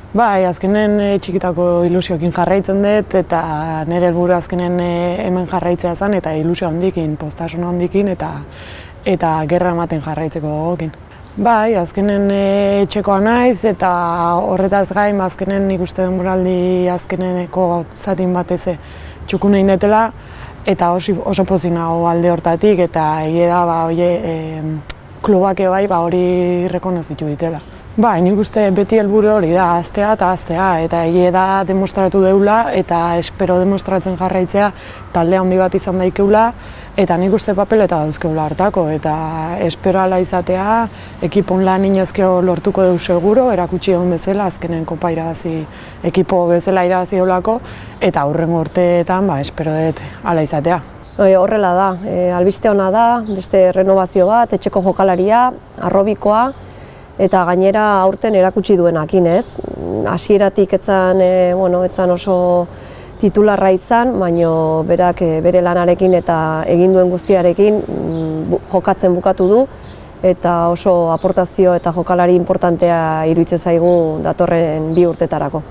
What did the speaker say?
Bai, azkenen txikitako ilusioekin jarraitzen dut eta nire helburu azkenen hemen jarraitzea zen eta ilusio handikin, postasun handikin eta gerra ematen jarraitzeko gogokin. Bai, azkenen etxekoa naiz eta horretaz gain azkenen nik uste denboraldi azkeneneko zatin batez txukun egin dutela eta oso pozik nago alde hortatik eta egia da klubak bai hori rekonozitu ditela. Bai, nik uste beti helburu hori da, hastea eta egia da demostratu deula eta espero demostratzen jarraitzea talde handi bat izan daikeula eta nik uste papeleta dauzkeula hartako eta espero ala izatea ekipon lan inozkio lortuko deu seguro, erakutsi egon bezala azkenen kopa irabazi, ekipo bezala irabazi olako eta hurrengo urteetan espero dut ala izatea. Horrela da, albiste ona da, beste renovazio bat, etxeko jokalaria, arrobikoa, eta gainera aurten erakutsi duenakin, ez? Hasieratik etzan oso titularra izan, baina berak bere lanarekin eta egin duen guztiarekin jokatzen bukatu du eta oso aportazio eta jokalari importantea iruditzen zaigu datorren 2 urtetarako.